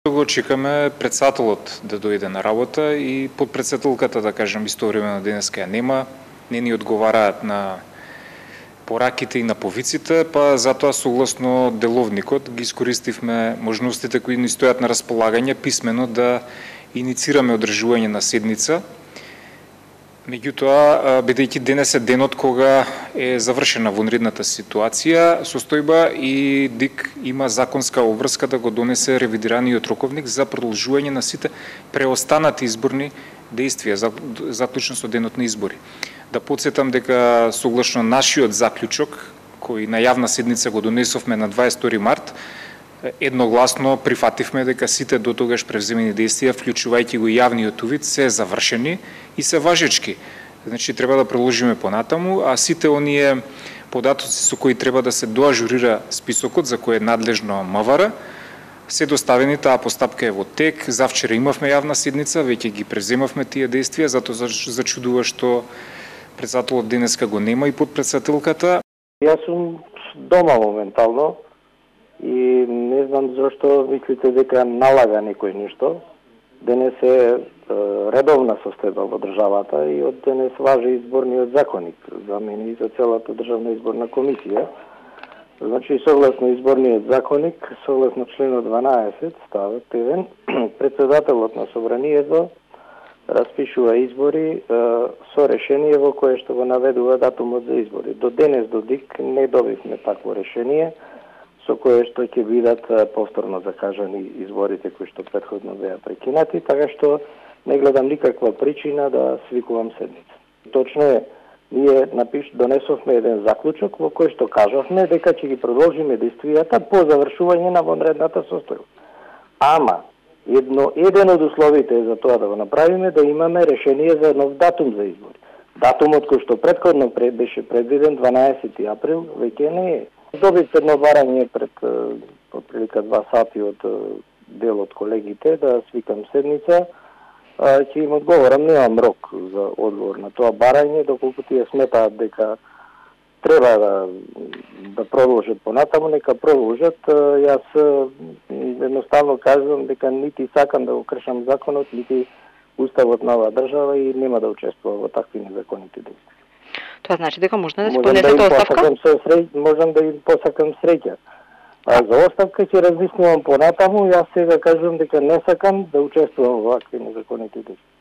Го чекаме председателот да дојде на работа и подпредседателката, да кажем, истовремено денеска ја нема, не ни одговараат на пораките и на повиците, па затоа согласно деловникот ги искористивме можностите кои ни стојат на располагање писмено да иницираме одржување на седница. Меѓутоа, бидејќи денес е денот кога е завршена вонредната ситуација, состојба и ДИК има законска обврска да го донесе ревидираниот роковник за продолжување на сите преостанати изборни действија, заклучно со денот на избори. Да подсетам дека согласно нашиот заклучок, кој на јавна седница го донесовме на 22 март, едногласно прифативме дека сите до тогаш превземени действија, вклучувајќи го јавниот увид, се завршени и се важечки. Значи, треба да продолжиме понатаму, а сите оние податоци со кои треба да се доажурира списокот, за кој е надлежно МВР, се доставени, таа постапка е во тек. Завчера имавме јавна седница, веќе ги превземавме тие действија, затоа зачудува што председателот денеска го нема и подпредседателката. Јас сум дома моментално и не знам зашто мислите дека налага некој нешто. Денес е редовна состојба во државата и од денес важи изборниот законник за мене и за целата државна изборна комисија. Значи, согласно изборниот законник, согласно членот 12, ставот 1, председателот на собранието распишува избори со решение во кое што го наведува датумот за избори. До денес до ДИК не добивме такво решение со кое што ќе бидат повторно закажани изборите кои што претходно беа прекинати, така што не гледам никаква причина да свикувам седница. Точно е, ние донесовме еден заклучок во кој што кажавме дека ќе ги продолжиме действијата по завршување на вонредната состојба. Ама еден од условите за тоа да го направиме да имаме решение за нов датум за избори. Датумот кој што претходно беше предвиден 12 април веќе не е. Добив едно барање пред отприлика 2 сати од дел од колегите да свикам седница. Ќе им одговорам, немам рок за одговор на тоа барање, доколку тие сметаат дека треба да продолжат понатаму, нека продолжат. Јас едноставно кажувам дека нити сакам да го кршам законот, нити уставот на оваа држава и нема да учествувам во такви незаконити действија. Тоа значи дека можна да се поднесете оставка? Можам да им посакам среќа. А за оставка ќе размислувам понатаму, јас сега кажувам дека не сакам да учествувам во вакви незаконити действија.